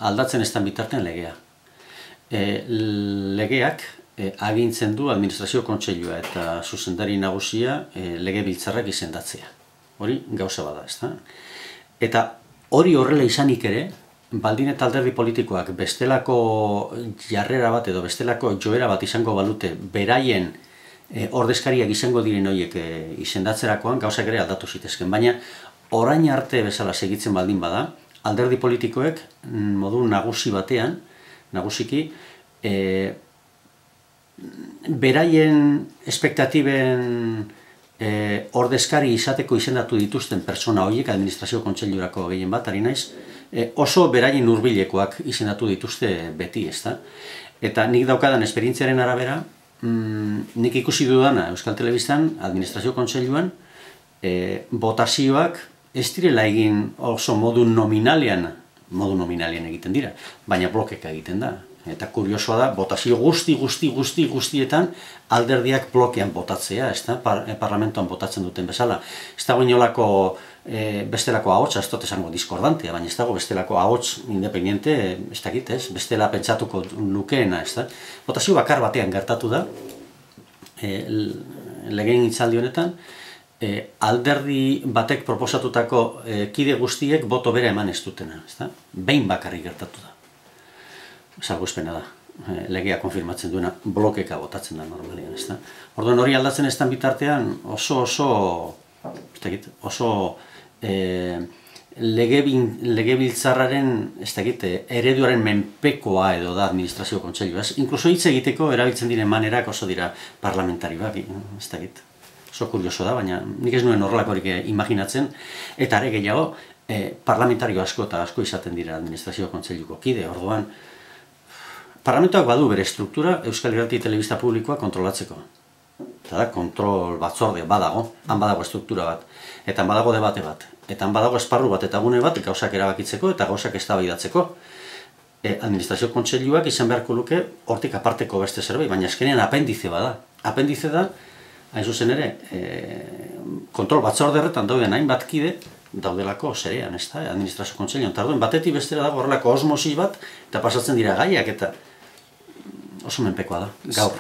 Aldatzen ez den bitartean legea. Legeak agintzen du administrazio kontseilua eta zuzendari nagusia legebiltzarrak izendatzea. Hori gauza bada, ezta? Eta hori horrela izanik ere, baldin eta alderdi politikoak bestelako jarrera bat edo bestelako joera bat izango balute beraien ordezkariak izango diren horiek izendatzerakoan gauzak ere aldatu zitezken. Baina orain arte bezala segitzen baldin bada, alderdi politikoek modu nagusi batean, nagusiki, beraien espektatiben ordezkari izateko izendatu dituzten pertsona horiek, administrazio kontseilurako gehien bat, ari naiz, oso beraien hurbilekoak izendatu dituzte beti, ezta? Eta nik daukadan esperientziaren arabera, nik ikusi dudana Euskal Telebistan, administrazio kontseiluan, botazioak ez direla egin oso modu nominalian egiten dira, baina blokeka egiten da. Eta kuriosoa da, botazio guztietan alderdiak blokean botatzea, parlamentoan botatzen duten bezala. Ez dago inolako bestelako ahotsa, ez dut esango diskordantea, baina ez dago bestelako ahots independiente, ez dakit, bestela pentsatuko nukeena, ez da. Botazio bakar batean gertatu da, legeen hitzaldi honetan, alderdi batek proposatutako kide guztiek boto bera eman ez dutena, ez da. Behin bakarrik gertatu da. Salbuespena da, legea konfirmatzen duena, blokeka botatzen da normalian, ez da. Orduan hori aldatzen ez den bitartean oso legebiltzarraren, ez dakit, ereduaren menpekoa edo da administrazio kontseilua. Inkluso hitz egiteko erabiltzen diren manerak oso dira parlamentarioak, ez dakit. Oso kurioso da, baina nik ez nuen horrelakorik imaginatzen, eta are gehiago, parlamentario asko eta asko izaten dira administrazio kontseiluko kide, orduan, parlamentoak badu bere struktura Euskal Irrati Telebista Publikoa kontrolatzeko. Eta da, kontrol batzorde badago, han badago struktura bat, eta han badago debate bat, eta han badago esparru bat eta gune bat gauzak erabakitzeko eta gauzak eztabaidatzeko. Administrazio kontseiluak izan beharko luke hortik aparteko beste zerbait, baina eskenean apendize bada. Apendize da, hain zuzen ere, kontrol batzorde horretan dauden hainbat kide, daudelako zerean, ez da, administrazio kontseiluan. Tarduen, batetik bestera dago horrelako osmosi bat, eta pasatzen dira gaiak, eta oso menpekoa da, gaur.